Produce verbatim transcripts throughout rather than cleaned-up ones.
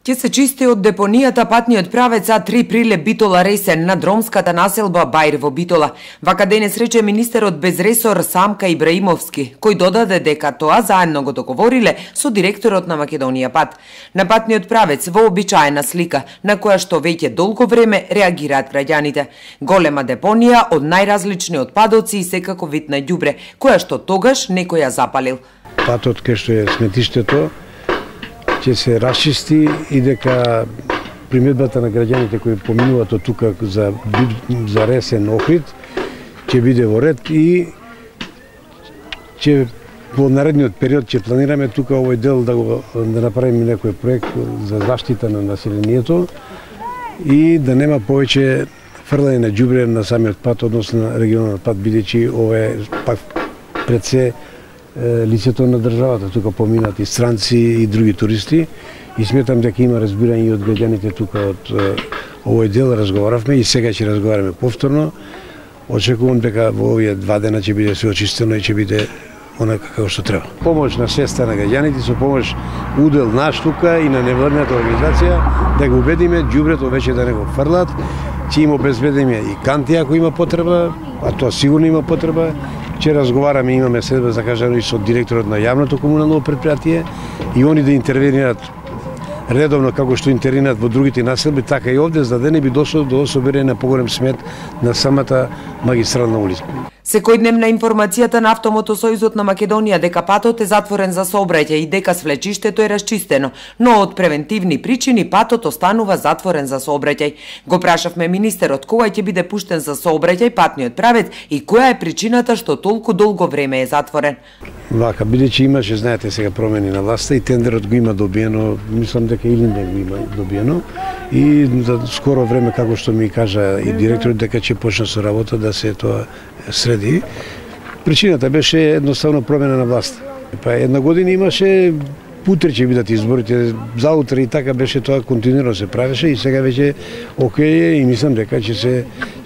Ќе се чисти од депонијата патниот правец А три Прилеп Битола Ресен над ромската населба Бајр во Битола. Вака денес рече министерот без ресор Самка Ибраимовски, кој додаде дека тоа заедно го договориле со директорот на Македонија Пат. На патниот правец вообичаена слика, на која што веќе долго време реагираат граѓаните. Голема депонија од најразлични отпадоци и секако вид на ѓубре, која што тогаш некој ја запалил. Патот кај што е сметиштето ќе се расчисти и дека приметбата на граѓаните кои поминуваат од тука за, за Ресен Охрид ќе биде во ред и ќе во наредниот период ќе планираме тука овој дел да го да направиме некој проект за заштита на населението и да нема повеќе фрлање на ѓубре на самиот пат, односно на регионалниот пат, бидејќи ова е пак пред се лицето на државата, тука поминат и странци и други туристи и сметам дека има разбирање и од граѓаните тука од овој дел. Разговаравме и сега ќе разговараме повторно. Очекувам дека во овие два дена ќе биде се очистено и ќе биде онака како што треба. Помош на свеста на граѓаните, со помош удел наш тука и на невладината организација да го убедиме ѓубрето веќе да не го фрлат, ќе им обезбедиме и канти ако има потреба, а тоа сигурно има потреба. Че разговараме, имаме следба закажано и со директорот на јавното комунално предпријатие и они да интервенираат редовно како што интервенираат во другите населби, така и овде, за да не би дошло до собирање на поголем смет на самата магистрална улица. Секојдневна информацијата на Автомотосојузот на Македонија дека патот е затворен за сообраќај и дека свлечиштето е расчистено, но од превентивни причини патот останува затворен за сообраќај. Го прашавме министерот кога ќе биде пуштен за сообраќај патниот правец и која е причината што толку долго време е затворен. Вака, бидејќи имаше, знаете, сега промени на власта и тендерот го има добиено, мислам дека или не го има добиено и за скоро време, како што ми кажа и директорот, дека ќе почне со работа да се тоа среди. Причината беше едноставно промена на власт. Па една година имаше утре ќе бидат изборите, заутре и така беше тоа, континуирано се правеше и сега веќе окей и мислам дека ќе се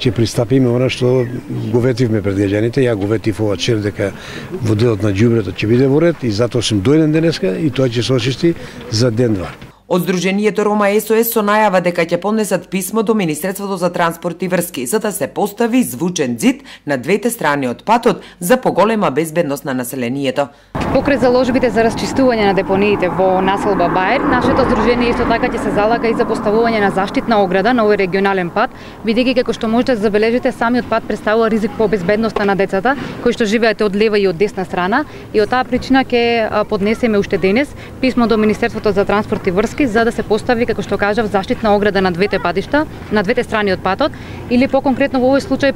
ќе пристапиме она што го ветивме пред граѓаните. Ја го ветив ова вчера дека во делот на ѓубрето ќе биде во ред и затоа сум дојден денеска и тоа ќе се очисти за ден-два. Од Сдруженијето Рома С О С со најава дека ќе поднесат писмо до Министерството за транспорт и врски за да се постави звучен ѕид на двете страни од патот за поголема безбедност на населението. Покрај заложбите за расчистување на депониите во населба Бајр, нашето здружение исто така ќе се залага и за поставување на заштитна ограда на овој регионален пат, бидејќи како што можете да забележите, самиот пат претставува ризик по безбедноста на децата кои што живеат од лева и од десна страна и од таа причина ќе поднесеме уште денес писмо до Министерството за транспорт и врски за да се постави, како што кажав, заштитна ограда на двете патишта, на двете страни од патот, или по-конкретно во овој случај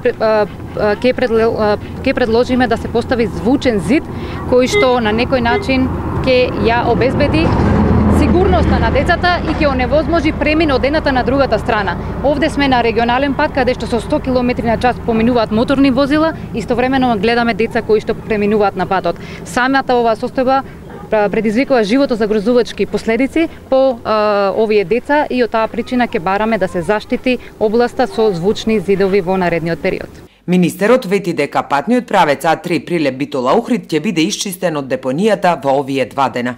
ќе ќе предложиме да се постави звучен ѕид кој што на некој начин ќе ја обезбеди сигурноста на децата и ќе оневозможи премин од едната на другата страна. Овде сме на регионален пат каде што со сто километри на час поминуваат моторни возила, истовремено гледаме деца кои што преминуваат на патот. Самата оваа состојба предизвикува животозагрозувачки последици по а, овие деца и од таа причина ќе бараме да се заштити областа со звучни зидови во наредниот период. Министерот вети дека патниот правец А три Прилеп Битола Охрид ќе биде исчистен од депонијата во овие два дена.